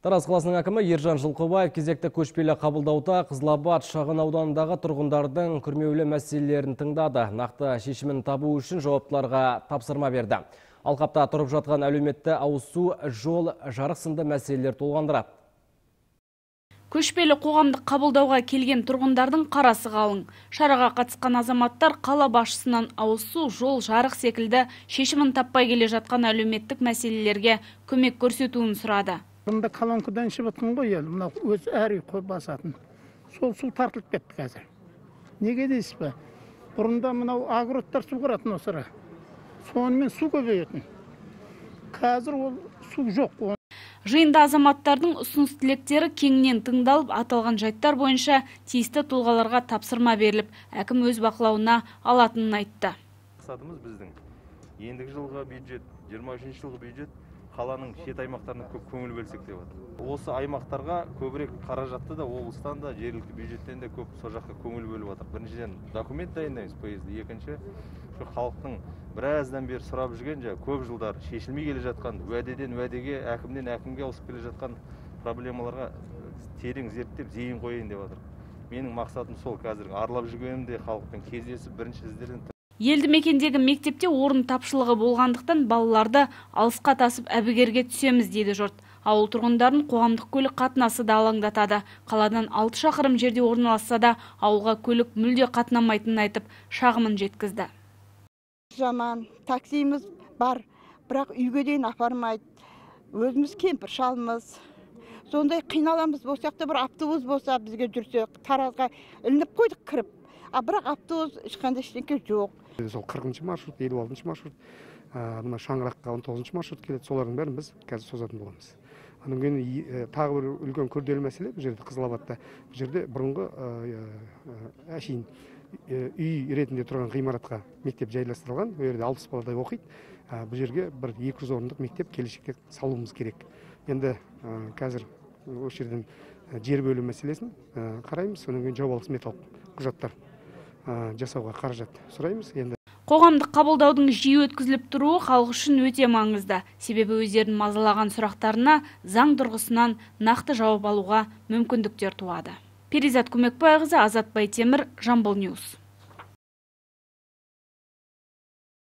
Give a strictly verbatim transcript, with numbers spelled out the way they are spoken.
Тараз қаласының әкімі Ержан Жылқыбаев кезекті көшпелі қабылдауда Қызылабад шағын ауданындағы тұрғындардың күрмеулі мәселелерін тыңдады. Нақты шешімін табу үшін жауаптыларға тапсырма берді. Алқапта тұрып жатқан әлеуметті ауызсу, жол, жарық сынды мәселелер толғандырады. Көшпелі қоғамдық қабылдауға келген тұрғындардың қарасы қалың. Шараға қатысқан азаматтар қала басшысынан ауызсу, жол, жарық секілді шешімін таппай келе жатқан әлеуметтік мәселелерге көмек көрсетуін сұрады. Бұнда колонкадан ішіп отқан ғой ел, мына өз әр үй қой басатын. Сол су тартылып кетті қазір. Неге дейсіз бе? Бұрында мынау агроттар су қыратын осыра. Сонымен су көбейетін. Қазір ол су жоқ. Жиында азаматтардың ұсыныс тілектері кеңінен тыңдалып, аталған жайттар бойынша тиісті тұлғаларға тапсырма беріліп, әкім өз бақылауына алатынын айтты. Мақсатымыз біздің ендігі жылғы бюджет, жиырма үшінші жылғы бюджет қаланың шет аймақтарына көп көңіл бөлсек деп отыр. Осы аймақтарға көбірек қаражатты да облыстан да жергілікті бюджеттен де көп сол жаққа көңіл бөліп отыр. Біріншіден документ дайындаймыз поезді, екінші халықтың біраздан бері сұрап жүрген, көп жылдар шешілмей келе жатқан, уәдеден уәдеге, әкімден әкімге ауысып келе жатқан проблемаларға терең зерттеп зейін қояйын деп отыр. Менің мақсатым сол, қазір аралап жүргенімде халықпен кездесіп, бірінші сіздерден. Елді мекендегі мектепте орын тапшылығы болғандықтан балаларды алысқа тасып әбігерге түсеміз дейді жұрт. Ауыл тұрғындарын қоғамдық көлік қатынасы да алаңдатады. Қаладан алты шақырым жерде орналасса да ауылға көлік мүлде қатынамайтынын айтып, шағымын жеткізді. Жаман, таксиміз бар, бірақ үйге дейін апармайды. Өзіміз кемпір шалымыз. Сондай қиналамыз, болсақ та бір автобус болса бізге жүрсе, Таразға ілініп қойдық кіріп. А бірақ автобус ешқандай ештеңе жоқ. Сол қырқыншы маршрут, елу алтыншы маршрут, мына Шаңыраққа он тоғызыншы маршрут келеді. Солардың бәрін біз қазір созатын боламыз. Анан кейін тағы бір үлкен күрделі мәселе бұл жерде Қызылабадта. Бұл жерде бұрынғы әшейін үй ретінде тұрған ғимаратқа мектеп жайластырылған. Бұл жерде алпыс баладай оқиды. Бұл жерге бір екі жүз орындық мектеп келешекте салуымыз керек. Енді қазір осы жерден жер бөлу мәселесін қараймыз. Содан кейін жобалық сметалық құжаттар жасауға қаражат сұраймыз. Енді қоғамдық қабылдаудың жиі өткізіліп тұруы халық үшін өте маңызды. Себебі өздерін мазалаған сұрақтарына заң тұрғысынан нақты жауап алуға мүмкіндіктер туады. Перизат Көмекбайқызы, Азат Байтемір, Жамбыл Ньюс.